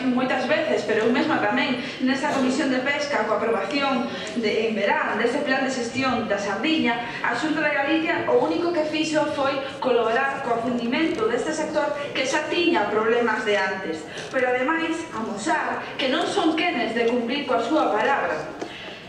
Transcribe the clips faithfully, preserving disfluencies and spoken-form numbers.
dixen moitas veces, pero eu mesma tamén, nesa Comisión de Pesca, coa aprobación de, en verán dese plan de xestión da sardiña, a Xunta de Galicia o único que fixo foi colaborar co afundimento deste sector que xa tiña problemas de antes, pero ademais amosar que non son quenes de cumplir coa súa palabra.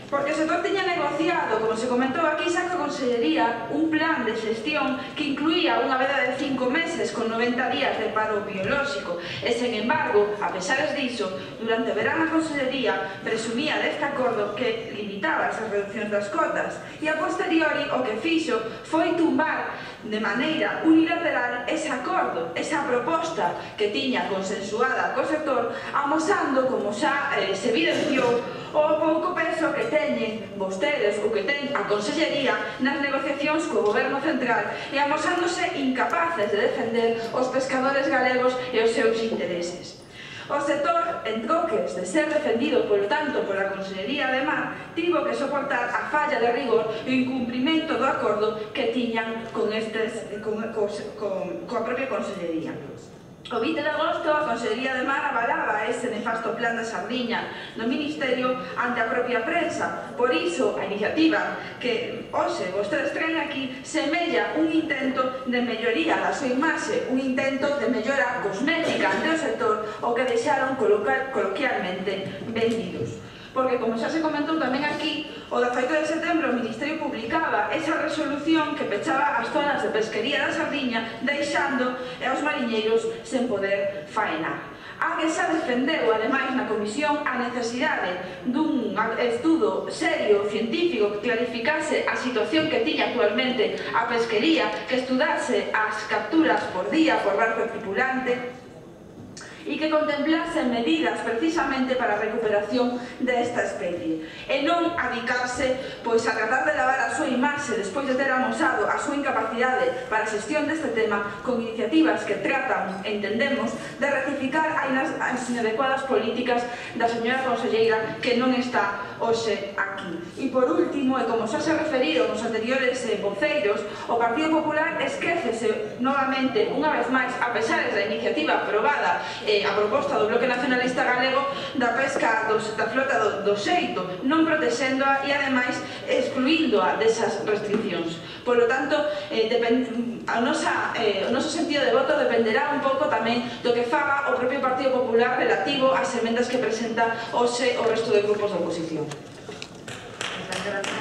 Porque o sector tiña negociado, como se comentou aquí, xa coa Consellería, un plan de xestión que incluía unha veda de cinco meses con noventa días de paro biolóxico e, sen embargo, a pesares diso, durante o verán a Consellería presumía deste acordo que limitaba esas reduccións das cotas e, a posteriori, o que fixo foi tumbar de maneira unilateral ese acordo, esa proposta que tiña consensuada co sector, amosando, como xa eh, se evidenciou, o pouco peso que teñen vostedes ou que ten a Consellería nas negociacións co Goberno Central e amosándose incapaces de defender os pescadores galegos e os seus intereses. O sector, en troques de ser defendido, polo tanto, pola Consellería de Mar, tivo que soportar a falla de rigor e o incumprimento do acordo que tiñan con estes, con, con, con, coa propia Consellería. O vinte de agosto, a Consellería de Mar avalaba ese nefasto plan da sardiña no Ministerio ante a propia prensa. Por iso, a iniciativa que hoxe vostedes traen aquí semella un intento de melloría da súa imaxe, un intento de mellora cosmética ante o sector, o que deixaron coloquialmente vendidos. Porque, como xa se comentou tamén aquí, o dezaoito de setembro o Ministerio publicaba esa resolución que pechaba as zonas de pesquería da sardiña, deixando aos mariñeiros sen poder faenar. A que xa defendeu, ademais, na Comisión a necesidade dun estudo serio, científico, que clarificase a situación que tiña actualmente a pesquería, que estudase as capturas por día por barco tripulante, e que contemplase medidas precisamente para a recuperación desta especie e non adicarse pois a tratar de lavar a súa imaxe despois de ter amosado a súa incapacidade para a xestión deste tema con iniciativas que tratan, entendemos, de rectificar as inadecuadas políticas da señora conselleira que non está hoxe aquí. E por último, e como xa se referiron os anteriores eh, voceiros, o Partido Popular esquécese novamente, unha vez máis, a pesar da iniciativa aprobada eh, a proposta do Bloque Nacionalista Galego da pesca dos, da flota do, do xeito, non protexéndoa e, ademais, excluíndoa desas restriccións. Por lo tanto, eh, depend, a nosa, eh, o noso sentido de voto dependerá un pouco tamén do que faga o propio Partido Popular relativo ás emendas que presenta hoxe o resto de grupos da oposición. Muchas gracias.